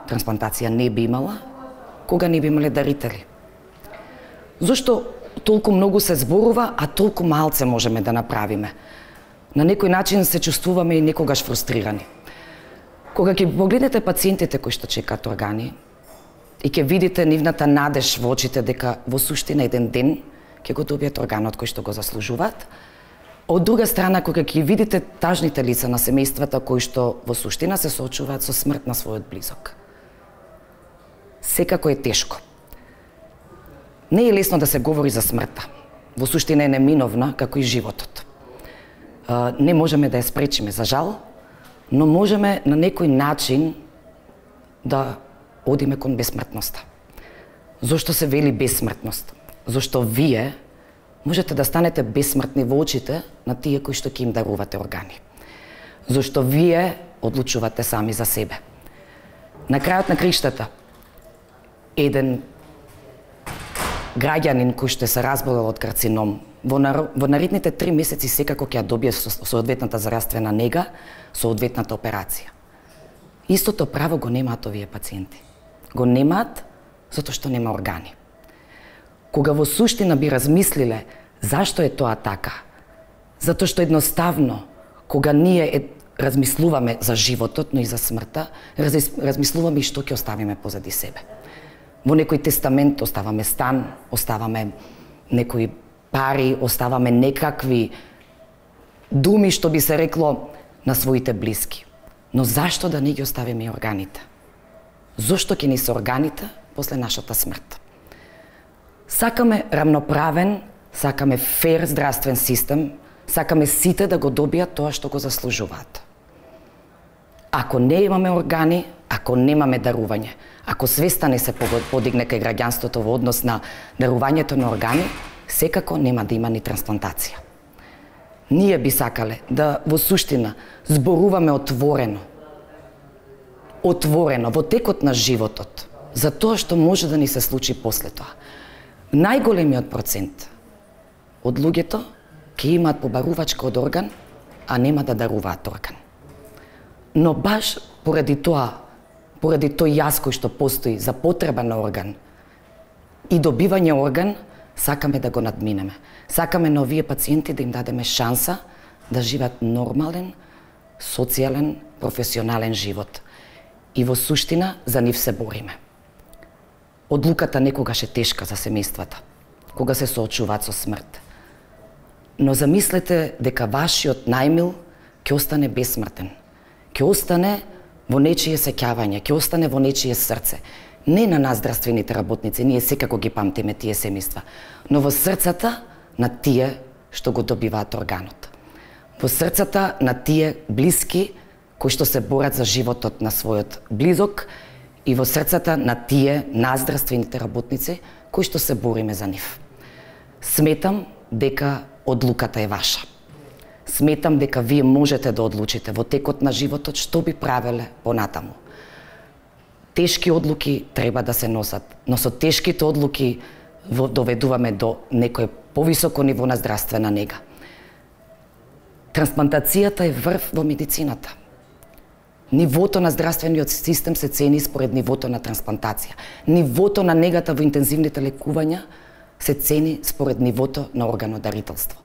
Трансплантација не би имала кога не би имале дарители. Зошто толку многу се зборува, а толку малце можеме да направиме? На некој начин се чувствуваме и некогаш фрустрирани. Кога ќе погледнете пациентите кои што чекаат органи и ќе видите нивната надеж во очите дека во суштина еден ден ќе го добијат органот кој што го заслужуваат, од друга страна кога ќе видите тажните лица на семејствата кои што во суштина се соочуваат со смрт на својот близок. Секако е тешко. Не е лесно да се говори за смртта. Во суштина е неминовна како и животот. Не можеме да ја спречиме, за жал, но можеме на некој начин да одиме кон бесмртноста. Зошто се вели бесмртност? Зошто вие можете да станете бесмртни во очите на тие кои што ќе им дарувате органи. Зошто вие одлучувате сами за себе. На крајот на криштата, еден граѓанин кој што се разболел од карцином, во наредните 3 месеци секако ќе ја добие соодветната здравствена нега, соодветната операција. Истото право го немаат овие пациенти. Го немаат затоа што нема органи. Кога во суштина би размислиле зашто е тоа така, затоа што едноставно, кога ние размислуваме за животот, но и за смртта, размислуваме и што ќе оставиме позади себе. Во некој тестамент оставаме стан, оставаме некои пари, оставаме некакви думи, што би се рекло, на своите блиски. Но зашто да не ги оставиме и органите? Зошто ќе ни се органите после нашата смрт? Сакаме рамноправен, сакаме фер здравствен систем, сакаме сите да го добијат тоа што го заслужуваат. Ако не имаме органи, ако немаме дарување, ако свеста не се подигне кај граѓанството во однос на дарувањето на органи, секако нема да има ни трансплантација. Ние би сакале да во суштина зборуваме отворено во текот на животот, за тоа што може да ни се случи после тоа. Најголемиот процент од луѓето ќе имаат побарувачка од орган, а нема да даруваат орган. Но баш поради тој јас кој што постои за потреба на орган и добивање орган, сакаме да го надминеме. Сакаме на овие пациенти да им дадеме шанса да живеат нормален, социјален, професионален живот. И во суштина за нив се бориме. Одлуката некогаш е тешка за семејствата, кога се соочуваат со смрт. Но замислете дека вашиот најмил ќе остане бесмртен. Ќе остане во нечие сеќавање, ќе остане во нечие срце. Не на нас здравствените работници, ние секако ги памтиме тие семејства, но во срцата на тие што го добиваат органот. Во срцата на тие блиски кои што се борат за животот на својот близок и во срцата на тие нас здравствените работници кои што се бориме за нив. Сметам дека одлуката е ваша. Сметам дека вие можете да одлучите во текот на животот што би правеле понатаму. Тешки одлуки треба да се носат, но со тешките одлуки доведуваме до некој повисоко ниво на здравствена нега. Трансплантацијата е врв во медицината. Нивото на здравствениот систем се цени според нивото на трансплантација. Нивото на негата во интензивните лекувања се цени според нивото на органодарителство.